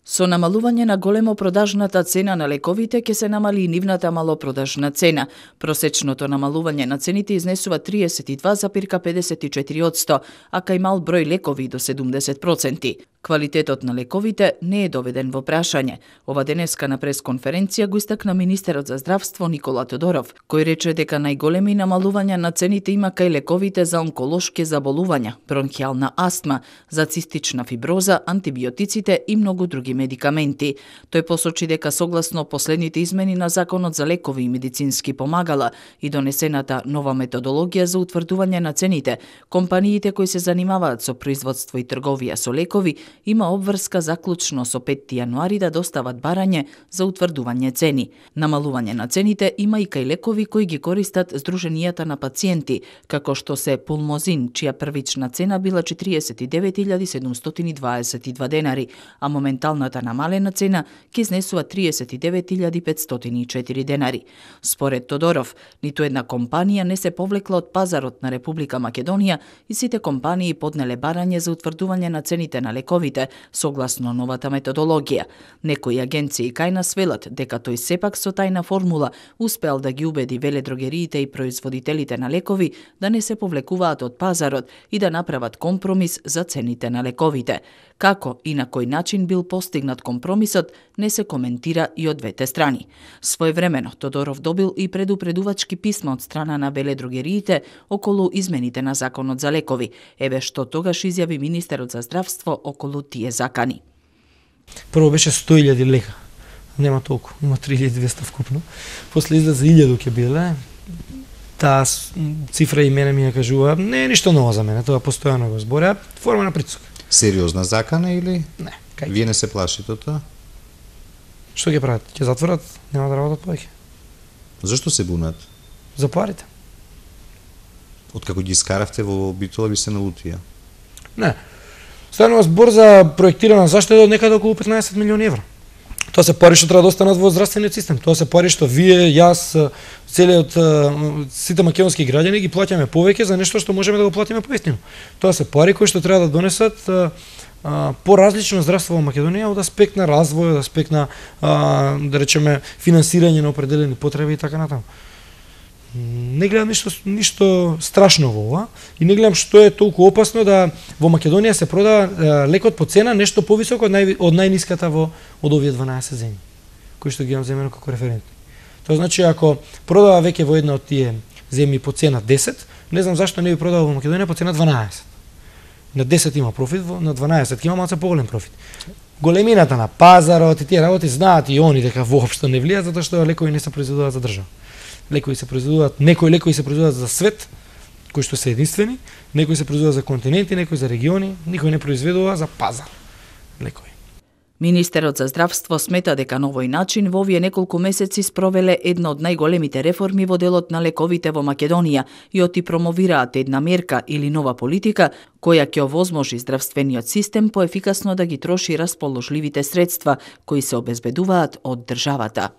Со намалување на големо продажната цена на лековите ќе се намали и нивната малопродажна цена. Просечното намалување на цените изнесува 32,54%, а кај мал број лекови до 70%. Квалитетот на лековите не е доведен во прашање. Ова денеска на пресконференција го истакна министерот за здравство Никола Тодоров, кој рече дека најголеми намалувања на цените има кај лековите за онколошки заболувања, бронхијална астма, за цистична фиброза, антибиотиците и многу други медикаменти. Тој посочи дека согласно последните измени на Законот за лекови и медицински помагала и донесената нова методологија за утврдување на цените, компаниите кои се занимаваат со производство и трговија со лекови има обврска заклучно со 5 јануари да достават барање за утврдување цени. Намалување на цените има и кај лекови кои ги користат здруженијата на пациенти, како што се Пулмозин, чија првична цена била 49.722 денари, а моменталната намалена цена ќе изнесува 39.504 денари. Според Тодоров, ниту една компанија не се повлекла од пазарот на Република Македонија и сите компании поднеле барање за утврдување на цените на лековите согласно новата методологија. Некои агенции кај нас велат дека тој сепак со тајна формула успеал да ги убеди веледрогериите и производителите на лекови да не се повлекуваат од пазарот и да направат компромис за цените на лековите. Како и на кој начин бил постигнат компромисот не се коментира и од двете страни. Своевремено Тодоров добил и предупредувачки писма од страна на веледрогериите околу измените на Законот за лекови. Еве што тогаш изјави министерот за здравство околу тие закани. Прво беше 100.000 лека. Нема толку, има 3.200 вкупно. После излезе 1.000 ќе биле. Таа цифра и мене ми ја кажува, не е ништо ново за мене, тоа постојано го збореа, форма на притисок. Сериозна закана или? Не. Вие не се плашите од тоа? Што ќе прават? Ќе затворат? Нема да работат повеќе. Зашто се бунат? За парите. Откако ги скаравте во Битола ви се налутија? Не. Станува збор за проектирана заштеда од некаде околу 15 милиони евра. Тоа се пари што треба да останат во здравствениот систем. Тоа се пари што вие, јас, целиот сите македонски граѓани ги плаќаме повеќе за нешто што можеме да го платиме поевтино. Тоа се пари кои што треба да донесат поразлично здравство во Македонија од аспект на развој, од аспект на да речеме финансирање на определени потреби и така натаму. Не гледам ништо страшно во ова и не гледам што е толку опасно да во Македонија се продава лекот по цена нешто повисоко од најниската од овие 12 земји, кои што ги имам земено како референтни. Тоа значи ако продава веќе во една од тие земји по цена 10, не знам зашто не би продава во Македонија по цена 12. На 10 има профит, на 12 има малку поголем профит. Големината на пазарот и тие работи знаат и они дека воопшто не влијаат затоа што лекови не се произведуваат за држава. Лекови се произведуваат, некои лекови се произведуваат за свет, кои што се единствени, некои се произведуваат за континенти, некои за региони, никој не произведува за пазар лекови. Министерот за здравство смета дека на овој начин во овие неколку месеци спровеле една од најголемите реформи во делот на лековите во Македонија и оти промовираат една мерка или нова политика која ќе овозможи здравствениот систем поефикасно да ги троши расположливите средства кои се обезбедуваат од државата.